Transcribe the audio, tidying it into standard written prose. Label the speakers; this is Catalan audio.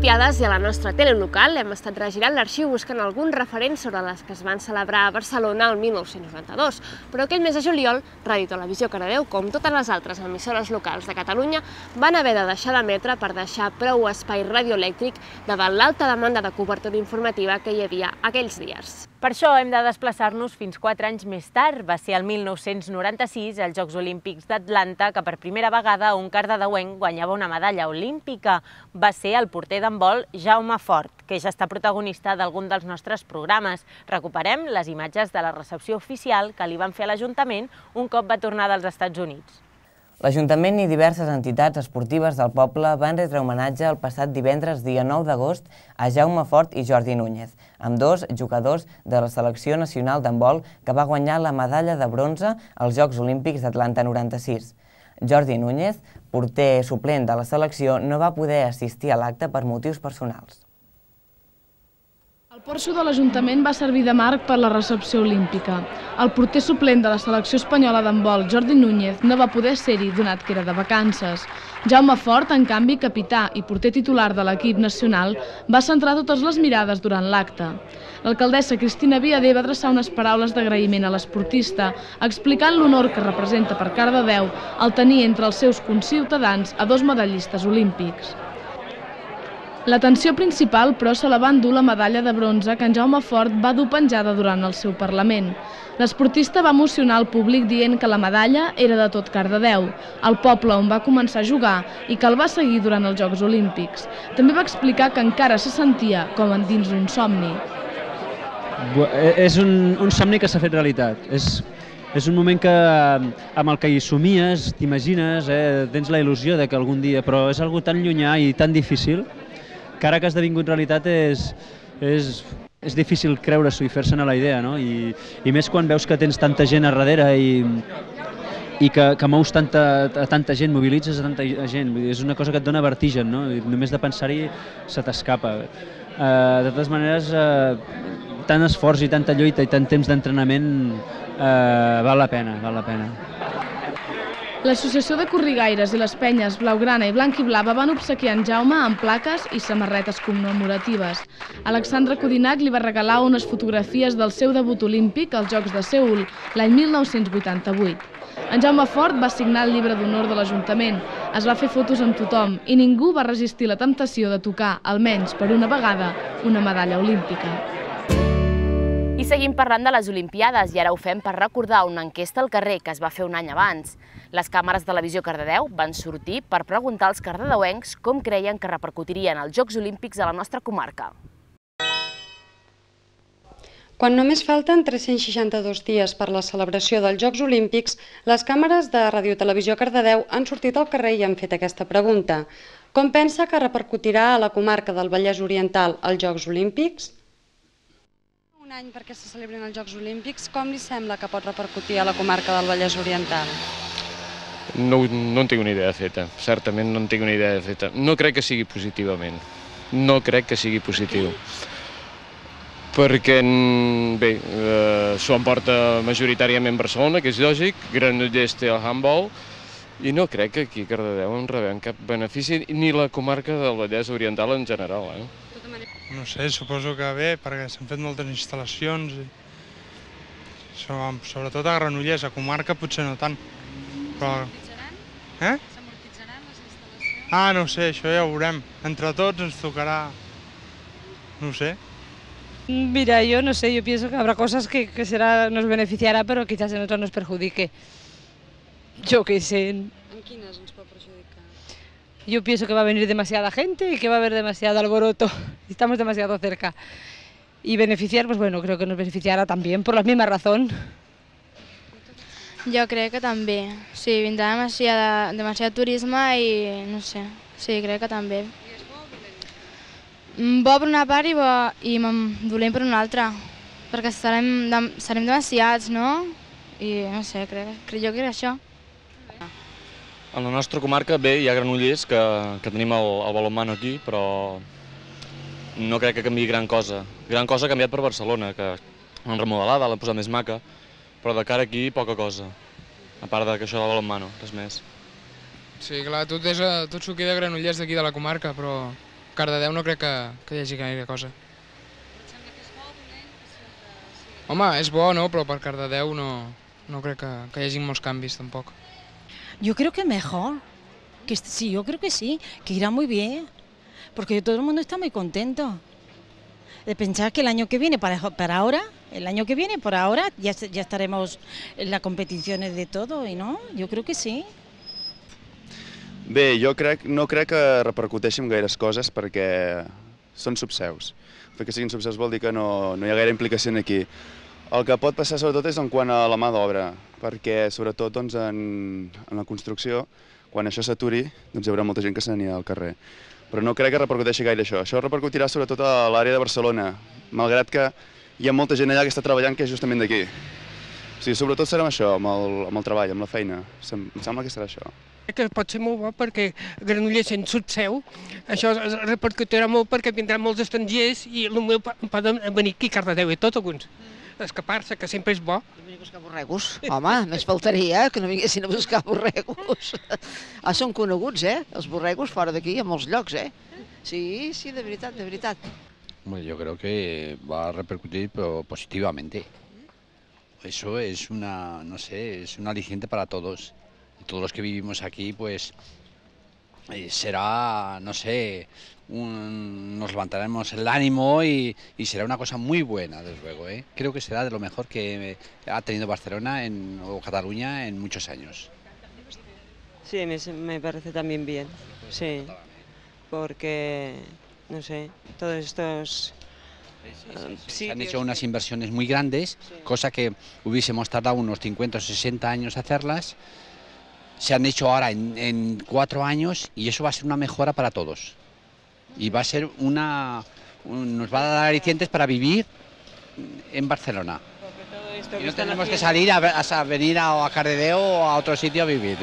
Speaker 1: Olimpiades i a la nostra tele local hem estat regirant l'arxiu buscant alguns referents sobre les que es van celebrar a Barcelona el 1992, però aquell mes de juliol, Ràdio Televisió Cardedeu, com totes les altres emissores locals de Catalunya, van haver de deixar d'emetre per deixar prou espai radioelèctric davant l'alta demanda de cobertura informativa que hi havia aquells dies.
Speaker 2: Per això hem de desplaçar-nos fins 4 anys més tard. Va ser el 1996, als Jocs Olímpics d'Atlanta, que per primera vegada un cardedeuenc guanyava una medalla olímpica. Va ser el porter d'handbol Jaume Fort, que ja està protagonista d'algun dels nostres programes. Recuperem les imatges de la recepció oficial que li van fer a l'Ajuntament un cop va tornar dels Estats Units.
Speaker 3: L'Ajuntament i diverses entitats esportives del poble van retre homenatge el passat divendres, dia 9 d'agost, a Jaume Fort i Jordi Núñez, ambdós jugadors de la selecció nacional d'handbol que va guanyar la medalla de bronze als Jocs Olímpics d'Atlanta 96. Jordi Núñez, porter suplent de la selecció, no va poder assistir a l'acte per motius personals.
Speaker 4: El porxo de l'Ajuntament va servir de marc per la recepció olímpica. El porter suplent de la selecció espanyola d'handbol, Jordi Núñez, no va poder ser-hi, donat que era de vacances. Jaume Fort, en canvi, capità i porter titular de l'equip nacional, va centrar totes les mirades durant l'acte. L'alcaldessa Cristina Viader va adreçar unes paraules d'agraïment a l'esportista, explicant l'honor que representa per Cardedeu el tenir entre els seus conciutadans a 2 medallistes olímpics. L'atenció principal, però, se la va endur la medalla de bronze que en Jaume Fort va dur penjada durant el seu Parlament. L'esportista va emocionar el públic dient que la medalla era de tot Cardedeu, el poble on va començar a jugar i que el va seguir durant els Jocs Olímpics. També va explicar que encara se sentia com dins d'un somni.
Speaker 5: És un somni que s'ha fet realitat. És un moment amb el que hi somies, t'imagines, tens la il·lusió de que algun dia, però és algo tan llunyà i tan difícil que ara que ha esdevingut realitat és difícil creure-s'ho i fer-se'n a la idea, no? I més quan veus que tens tanta gent a darrere i que mous tanta gent, mobilitzes a tanta gent. És una cosa que et dona vertigen, no? I només de pensar-hi se t'escapa. De totes maneres, tant esforç i tanta lluita i tant temps d'entrenament val la pena, val la pena.
Speaker 4: L'Associació de Corrigaires i les penyes Blaugrana i Blanc i Blava van obsequiar en Jaume amb plaques i samarretes commemoratives. Alexandre Codinac li va regalar unes fotografies del seu debut olímpic als Jocs de Seül, l'any 1988. En Jaume Fort va signar el llibre d'honor de l'Ajuntament, es va fer fotos amb tothom i ningú va resistir la temptació de tocar, almenys per una vegada, una medalla olímpica.
Speaker 6: I seguim parlant de les Olimpiades i ara ho fem per recordar una enquesta al carrer que es va fer un any abans. Les càmeres de Televisió Cardedeu van sortir per preguntar als cardedeuencs com creien que repercutirien els Jocs Olímpics a la nostra comarca.
Speaker 7: Quan només falten 362 dies per la celebració dels Jocs Olímpics, les càmeres de Ràdio Televisió Cardedeu han sortit al carrer i han fet aquesta pregunta. Com pensa que repercutirà a la comarca del Vallès Oriental els Jocs Olímpics? Un any perquè se celebrin els Jocs Olímpics, com li sembla que pot repercutir a la comarca del Vallès Oriental?
Speaker 8: No en tinc una idea feta, certament no en tinc una idea feta. No crec que sigui positivament, no crec que sigui positiu. Perquè, bé, s'ho emporta majoritàriament Barcelona, que és lògic, Granollers té el handball, i no crec que aquí a Cardedeu en rebem cap benefici, ni la comarca del Vallès Oriental en general.
Speaker 9: No sé, suposo que bé, perquè s'han fet moltes instal·lacions, sobretot a Granollers, a comarca potser no tant. S'amortitzaran? S'amortitzaran les instal·lacions? Ah, no sé, això ja ho veurem. Entre tots ens tocarà, no sé.
Speaker 10: Mira, yo no sé, yo pienso que habrá cosas que nos beneficiará, pero quizás en otras nos perjudique. Yo qué sé.
Speaker 7: En quines ens pot perjudicar?
Speaker 10: Yo pienso que va a venir demasiada gente y que va a haber demasiado alboroto. Estamos demasiado cerca. Y beneficiar, pues bueno, creo que nos beneficiará también, por la misma razón.
Speaker 11: Jo crec que també. Sí, vindrà demasiat turisme i no sé, sí, crec que també.
Speaker 7: I és bo o dolent?
Speaker 11: Bo per una part i dolent per una altra, perquè serem demasiats, no? I no sé, jo crec això.
Speaker 12: En la nostra comarca, bé, hi ha Granollers que tenim el balonmano aquí, però no crec que canviï gran cosa. Gran cosa ha canviat per Barcelona, que l'han remodelada, l'han posat més maca, però de cara aquí poca cosa, a part que això del balonmano, res més.
Speaker 13: Sí, clar, tot s'ho queda Granollers d'aquí de la comarca, però Cardedeu no crec que hi hagi gaire cosa. Home, és bo, no? Però per Cardedeu no crec que hi hagi molts canvis, tampoc.
Speaker 14: Yo creo que mejor, sí, yo creo que sí, que irá muy bien, porque todo el mundo está muy contento. De pensar que el año que viene, para ahora, ya estaremos en las competiciones de todo, y no, yo creo que sí.
Speaker 15: Bé, no crec que repercuteixi en gaires coses perquè són subseus. El fet que siguin subseus vol dir que no hi ha gaire implicació aquí. El que pot passar sobretot és en quant a la mà d'obra, perquè sobretot en la construcció, quan això s'aturi, hi haurà molta gent que se n'anirà al carrer. Però no crec que repercuteixi gaire això. Això repercutirà sobretot a l'àrea de Barcelona, malgrat que hi ha molta gent allà que està treballant que és justament d'aquí. O sigui, sobretot serà amb això, amb el treball, amb la feina. Em sembla que serà això.
Speaker 16: Que pot ser molt bo perquè Granollers sent subseu, això es repercutirà molt perquè vindran molts estrangers i potser poden venir aquí a Cardedeu i tot alguns. Escapar-se, que sempre és bo.
Speaker 17: Venir a buscar borregos. Home, més faltaria que no vinguessin a buscar borregos. Són coneguts, els borregos fora d'aquí, a molts llocs, Sí, de veritat, de veritat.
Speaker 18: Bueno, yo creo que va a repercutir positivamente. Eso es no sé, es un aliciente para todos. Todos los que vivimos aquí, pues será, no sé, nos levantaremos el ánimo y será una cosa muy buena, desde luego. Creo que será de lo mejor que ha tenido Barcelona o Cataluña en muchos años.
Speaker 19: Sí, me parece también bien, sí, porque, no sé, todos estos...
Speaker 18: Se han hecho unas inversiones muy grandes, cosa que hubiésemos tardado unos 50 o 60 años hacerlas. Se han hecho ahora en 4 años y eso va a ser una mejora para todos. Y va a ser nos va a dar alicientes para vivir en Barcelona. Y no tenemos que salir a venir a Cardedeu o a otro sitio a vivir.